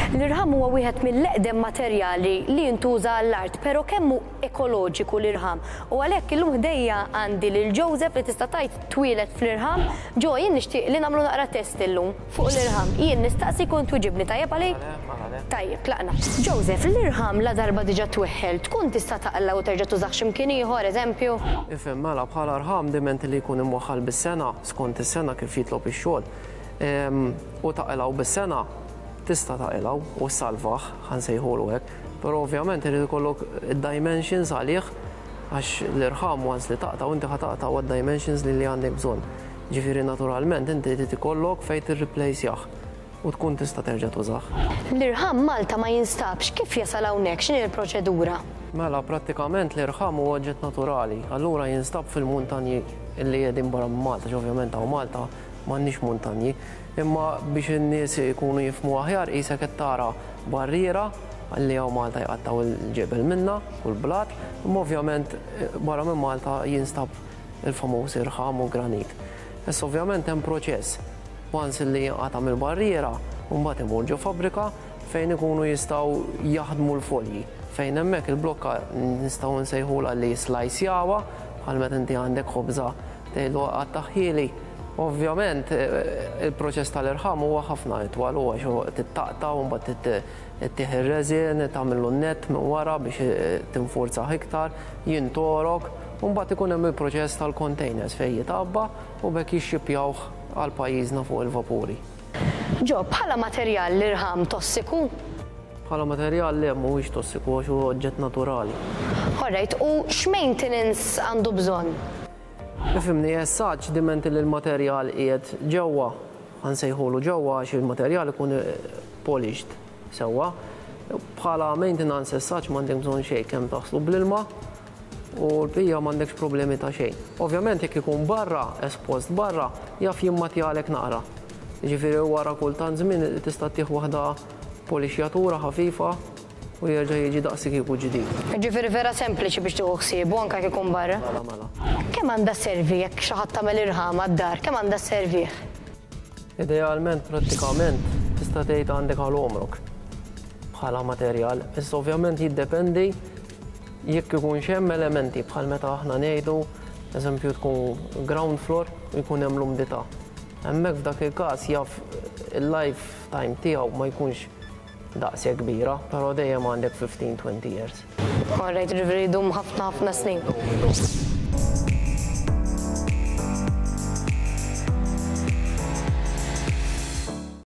L-irħam huwa wieħed mill-eqdem materjali li jintuża għall-art, però kemm hu ekoloġiku l-irħam? U għalhekk illum ħdejja għandi lil Joseph li tista' tgħid twieled fl-irħam. Joe, jien nixtieq li nagħmlu naqra test illum fuq l-irħam. Jien nistaqsik u int twiġibni, tajjeb għalik? Tajjeb, tlaqna. Joseph, l-irħam ladarba diġà tweħħel, tkun tista' taqla' u terġa' tużah xi mkien ieħor, eżempju? Ifhem, mela, bħala rħam diment li jkun imwaħħal bis-sengħa, skont is-sengħa kif jitlob ix-xogħol, u taqilgħu bis-sengħa, tista' taqilgħu u ssalvah, ħa nsejħulu hekk, però ovvjament irid ikollok id-dimensions għalih għax l-irħam once li taqtgħu inti ħa taqtgħu għad-dimensions li li għandek bżonn. Ġifieri naturalment inti trid ikollok fejn tirriplejsjah u tkun tista' terġa' tużah. L-irħam Malta ma jinstabx, kif jasal hawnhekk, x'inhi l-proċedura? Mela prattikament l-irħam huwa oġġett naturali, allura jinstab fil-muntanji li qegħdin barra minn Malta, għax ovvjament hawn Malta m'għandniex muntanji. Imma biex in-nies ikunu jifhmu aħjar qisek qed tara barriera li hawn Malta jqattgħu l-ġebel minnha u l-blat, imma ovvjament barra minn Malta jinstab il-famuż irħam u granit. Issa ovvjament hemm proċess. Once li jinqata' mill-barriera, mbagħad imur ġo fabbrika fejn ikunu jistgħu jaħdmu l-folji, fejn hemmhekk il-blokka nistgħu nsejħulha li jislajsjawha bħal meta inti għandek ħobża tgħidlu qattagħhieli. Ovvjament il-proċess tal-irħam huwa ħafna itwal u għax trid taqta' u mbagħad trid ittih ir-resin, tagħmillu n-nett minn wara biex tinfurzah iktar, jintorok, u mbagħad ikun hemm il-proċess tal-containers fejn jitgħabba u b'hekk jixxipjawh għal pajjiżna fuq il-vapuri. Joe, bħala materjal l-irħam tossiku? Bħala materjal le mhuwiex tossiku għax huwa oġġett naturali. Alright, u x'maintenance għandu bżonn? Ifhimni, as such, diment li l-materjal qiegħed ġewwa, ħa nsejħulu ġewwa għax il-materjal ikun polished sewwa. Bħala maintenance as such m'għandek bżonn xejn kemm taħslu bl-ilma u l-bqija m'għandekx problemi ta' xejn. Ovvjament jekk ikun barra, espost barra, jaf jimmatjalek naqra. Jiġifieri wara kull tant żmien tista' ttih waħda polixjatura ħafifa u jerġa' jiġi daqs kieku ġdid. Jiġifieri vera sempliċi biex tieħu ħsiebu anke jekk ikun barra. Mela, mela. Kemm għandha sservi jekk xi ħadd għamel irħam għad-dar, kemm għandha sservih? Idealment, prattikament, tista' tgħid għandek għal għomrok bħala materjal. Issa ovvjament jiddependi jekk ikunx hemm elementi bħal meta aħna ngħidu, eżempju tkun ground floor u jkun hemm l-umdità. Hemmhekk f'dak il-każ jaf il-lifetime tiegħu ma jkunx daqshekk kbira, però dejjem għandek 15-20 years. Alright, jiġifieri jdum ħafna ħafna snin.